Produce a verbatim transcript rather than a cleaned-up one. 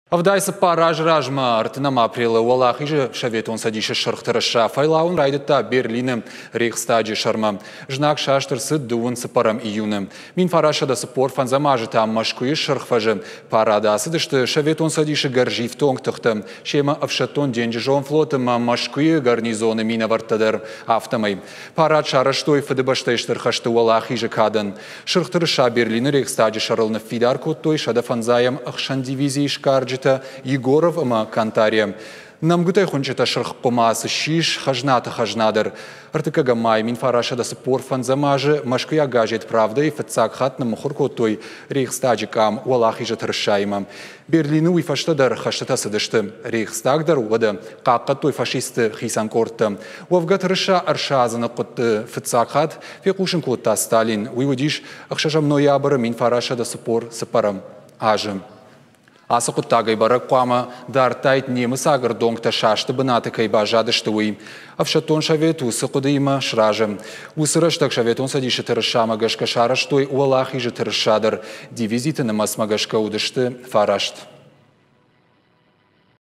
Ӕвдай цыппар азы размӕ ӕртынӕм апрелы Уӕлахизы Советон Цӕдисы Сырх тырыса фӕйлауын райдыдта Берлины Рейхстаджы сӕрмӕ. Знаг саст ӕрцыд дыууын цыппӕрӕм июны. Мин фарастсӕдӕ цыппор фӕндзӕм азы та Мӕскуыйы Сырх фӕзы парады ацыдысты Советон Цӕдисы гӕрзифтонг тыхтӕ, семӕ ӕфсӕддон денджызон флот ӕмӕ Мӕскуыйы гарнизоны минӕвӕрттӕ дӕр, афтӕмӕй. Парад сарӕзтой Фыдыбӕстӕйы Стыр хӕсты Уӕлахизы кадӕн. Сырх тырыса Берлины Рейхстаджы сӕрыл ныффидар кодтой сӕдӕ фӕндзайӕм ӕхсӕн дивизийы сгарджытӕ Егоров ӕмӕ Кантария. Нӕмгуытӕй хуынчъытӕ сырх хъуымац ссис хӕзнаты хӕзнадӕр. Ӕртыккӕгӕм май мин фарастсӕдӕ цыппор фӕндзӕм азы мӕскуыйаг газет «Правда»-йы фыццаг хатт ныммыхуыр кодтой Рейхстаджы къам Уӕлахизы тырысаимӕ. Берлины уый фӕстӕ дӕр хӕстытӕ цыдысты. Рейхстаг дӕр уӕдӕ хъахъхъӕдтой фашистты хицӕн къордтӕ. Уӕвгӕ тырыса ӕрсадзыны хъуыдды фыццаг хатт фехъусын кодта Сталин. Уый уыдис ӕхсӕзӕм ноябры мин фарастсӕдӕ цыппор цыппӕрӕм азы. Ацы хъуыддагӕй бӕрӕг хъуамӕ дардтаид, немыцаг ӕрдонгтӕ састы бынаты кӕй баззадысты, уый. Ӕфсӕддон совет уыцы хъуыдыимӕ сразы. Уыцы рӕстӕг Советон Цӕдисы тырысамӕ гӕсгӕ сарӕзтой Уӕлахизы тырыса дӕр. Дивизиты нымӕцмӕ гӕсгӕ уыдысты фараст.